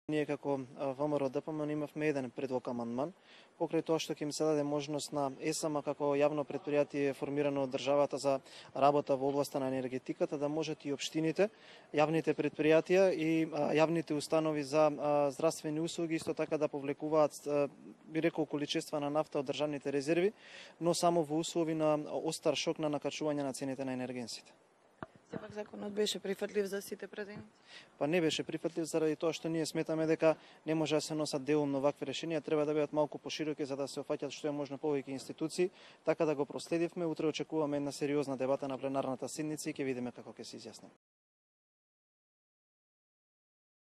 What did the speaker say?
Ние како ВМРО ДПМН имавме еден предлог амандман, покрај тоа што ќе им се даде можност на ЕСАМ како јавно претпријатие формирано од државата за работа во областа на енергетиката да можат и општините, јавните претпријатија и јавните установи за здравствени услуги исто така да повлекуваат би рекол количества на нафта од државните резерви, но само во услови на остар шок на накачување на цените на енергенсите. Сепак законот беше прифатлив за сите претеници? Па не беше прифатлив заради тоа што ние сметаме дека не може да се носат делумно вакви решенија, треба да бидат малку пошироки за да се опфаќат што е можно повеќе институции, така да го проследивме. Утре очекуваме една сериозна дебата на пленарната седница и ќе видиме како ќе се изјаснеме.